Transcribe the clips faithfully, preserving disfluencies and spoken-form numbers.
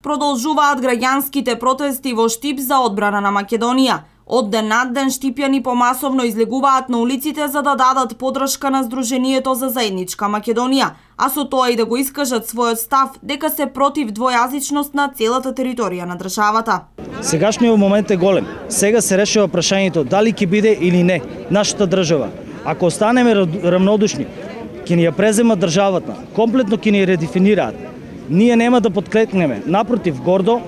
Продолжуваат граѓанските протести во Штип за одбрана на Македонија. Од ден над ден штипјани помасовно излегуваат на улиците за да дадат поддршка на Сдруженијето за заедничка Македонија, а со тоа и да го искажат својот став дека се против двојазичност на целата територија на државата. Сегашниот момент е голем. Сега се решава прашањето дали ќе биде или не нашата држава. Ако останеме равнодушни, ќе ни ја презема државата, комплетно ќе ни ја редефинираат. Ние нема да подклекнеме, напротив, гордо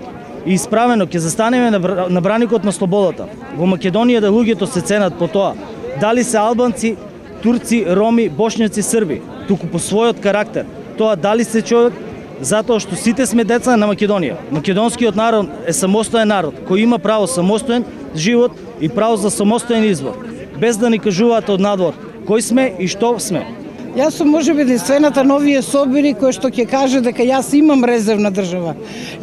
и исправено ќе застанеме на браникот на слободата. Во Македонија да луѓето се ценат по тоа дали се албанци, турци, роми, бошњаци, срби, туку по својот карактер. Тоа дали се човек, затоа што сите сме деца на Македонија. Македонскиот народ е самостоен народ кој има право самостоен живот и право за самостоен избор, без да ни кажуваат од надвор кој сме и што сме. Јас сум можеби единствената новие собери кој што ќе каже дека јас имам резервна држава.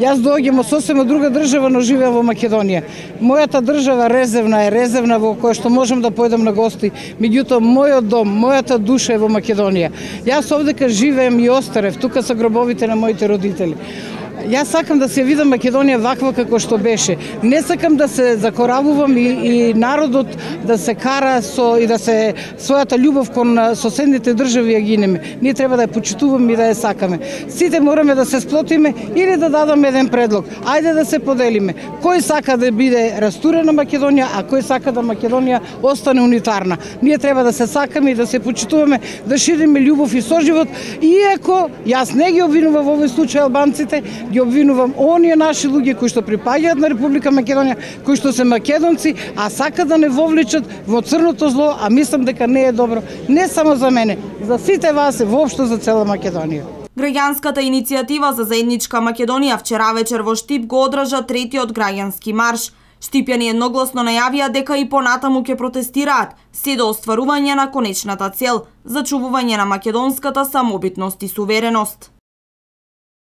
Јас доаѓам од сосема друга држава, но живеам во Македонија. Мојата држава резервна е резервна во која што можам да појдам на гости, меѓутоа мојот дом, мојата душа е во Македонија. Јас овдека живеем и остарев, тука се гробовите на моите родители. Јас сакам да се видам Македонија ваква како што беше. Не сакам да се закоравувам и, и народот да се кара со и да се својата љубов кон соседните држави ја гинеме. Ние треба да ја почитуваме и да ја сакаме. Сите мораме да се сплотиме или да дадаме еден предлог. Ајде да се поделиме. Кој сака да биде растурена Македонија, а кој сака да Македонија остане унитарна. Ние треба да се сакаме и да се почитуваме, да шириме љубов и соживот, иако јас не ги обвинувам во овој случај албанците, ги обвинувам оние наши луѓе кои што припаѓаат на Република Македонија, кои што се македонци, а сакаат да не вовлечат во црното зло, а мислам дека не е добро, не само за мене, за сите вас и воопшто за цела Македонија. Граѓанската иницијатива за заедничка Македонија вчера вечер во Штип го одржа третиот граѓански марш. Штипјани едногласно најавија дека и понатаму ќе протестираат, се до остварување на конечната цел – зачувување на македонската самобитност и сувереност.